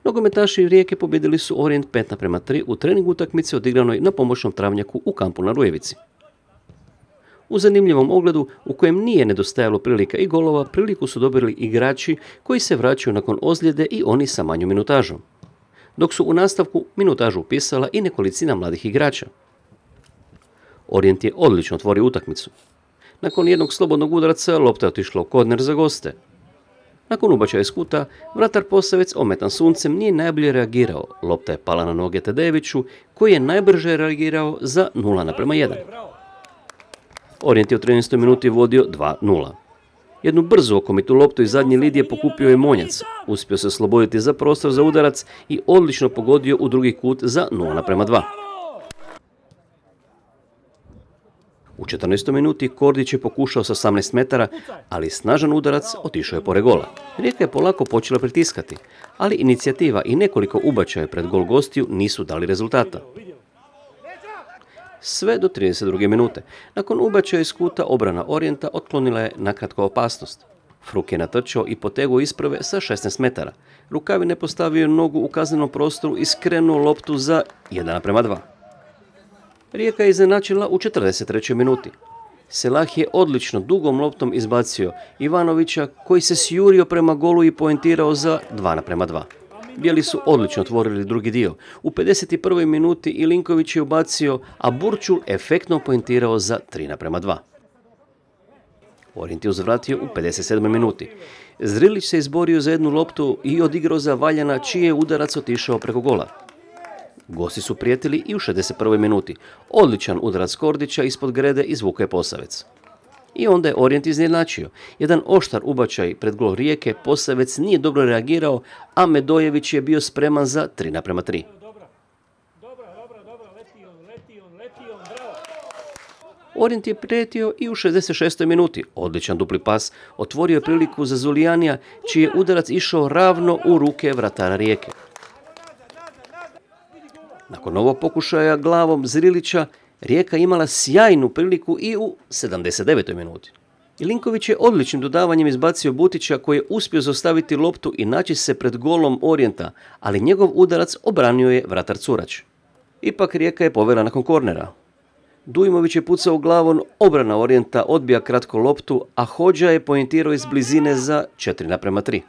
Nogometaši Rijeke pobjedili su Orient 5:3 u trening utakmici odigranoj na pomoćnom travnjaku u kampu na Rujevici. U zanimljivom ogledu, u kojem nije nedostajalo prilika i golova, priliku su dobili igrači koji se vraćaju nakon ozljede i oni sa manjom minutažom. Dok su u nastavku minutažu upisala i nekolicina mladih igrača. Orient je odlično otvorio utakmicu. Nakon jednog slobodnog udarca lopta je otišla u korner za goste. Nakon ubačaja iz kuta, vratar Posavec ometan suncem nije najbolje reagirao. Lopta je pala na noge Tadejeviću, koji je najbrže reagirao za 0:1. Orient je u 13. minuti vodio 2:0. Jednu brzu okomitu loptu iz zadnje lidije pokupio je Monjac. Uspio se osloboditi za prostor za udarac i odlično pogodio u drugi kut za 0:2. U 14. minuti Kordić je pokušao sa 18 metara, ali snažan udarac otišao je pored gola. Rijeka je polako počela pritiskati, ali inicijativa i nekoliko ubačaja pred gol gostiju nisu dali rezultata. Sve do 32. minute. Nakon ubačaja iz kuta obrana Orijenta otklonila je nakratko opasnost. Fruk je natrčao i poteguo isprave sa 16 metara. Rukavin je postavio nogu u kaznenom prostoru i skrenuo loptu za 1:2. Rijeka je iznenačila u 43. minuti. Selah je odlično dugom loptom izbacio Ivanovića, koji se sjurio prema golu i poentirao za 2:2. Bijeli su odlično otvorili drugi dio. U 51. minuti Ilinković je ubacio, a Burčul efektno poentirao za 3:2. Orient je uzvratio u 57. minuti. Zrilić se izborio za jednu loptu i odigrao za Valjana, čiji je udarac otišao preko gola. Gosti su prijetili i u 61. minuti. Odličan udarac Kordića ispod grede izvukao je Posavec. I onda je Orient iznenačio. Jedan oštar ubačaj pred gol Rijeke, Posavec nije dobro reagirao, a Medojević je bio spreman za 3:3. Orient je prijetio i u 66. minuti. Odličan dupli pas otvorio je priliku za Zulijanija, čiji je udarac išao ravno u ruke vratara Rijeke. Nakon ovog pokušaja glavom Zrilića, Rijeka imala sjajnu priliku i u 79. minuti. Ilinković je odličnim dodavanjem izbacio Butića, koji je uspio zaustaviti loptu i naći se pred golom Orijenta, ali njegov udarac obranio je vratar Curać. Ipak Rijeka je povela nakon kornera. Dujmović je pucao glavom, obrana Orijenta odbija kratko loptu, a Hodža je poentirao iz blizine za 4:3.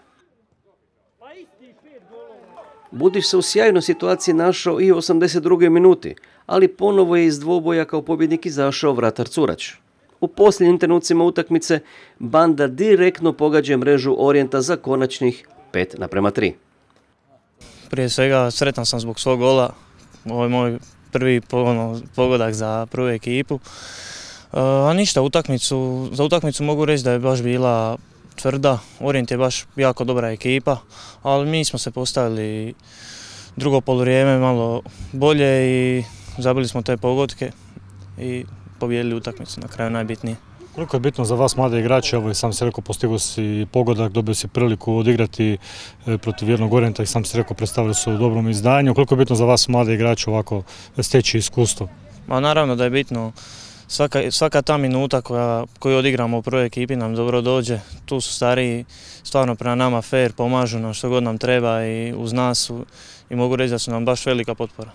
Budić se u sjajnoj situaciji našao i u 82. minuti, ali ponovo je iz dvoboja kao pobjednik izašao vratar Curać. U posljednjim trenucima utakmice Banda direktno pogađa mrežu Orijenta za konačnih 5:3. Prije svega sretan sam zbog svog gola. Ovo je moj prvi pogodak za prvu ekipu. A ništa, za utakmicu mogu reći da je baš bila tvrda. Orient je baš jako dobra ekipa, ali mi smo se postavili drugo poluvrijeme malo bolje i zabili smo te pogodke i pobijedili utakmicu, na kraju najbitnije. Koliko je bitno za vas mlade igrače, evo i sam si rekao, postigao si pogodak, dobio si priliku odigrati protiv jednog Orijenta i sam si rekao, predstavili su u dobrom izdanju. Koliko je bitno za vas mlade igrače ovako steći iskustvo? Ma naravno da je bitno. Svaka ta minuta koju odigramo u prvoj ekipi nam dobro dođe. Tu su stariji stvarno prema nama fair, pomažu nam što god nam treba i uz nas su, i mogu reći da su nam baš velika potpora.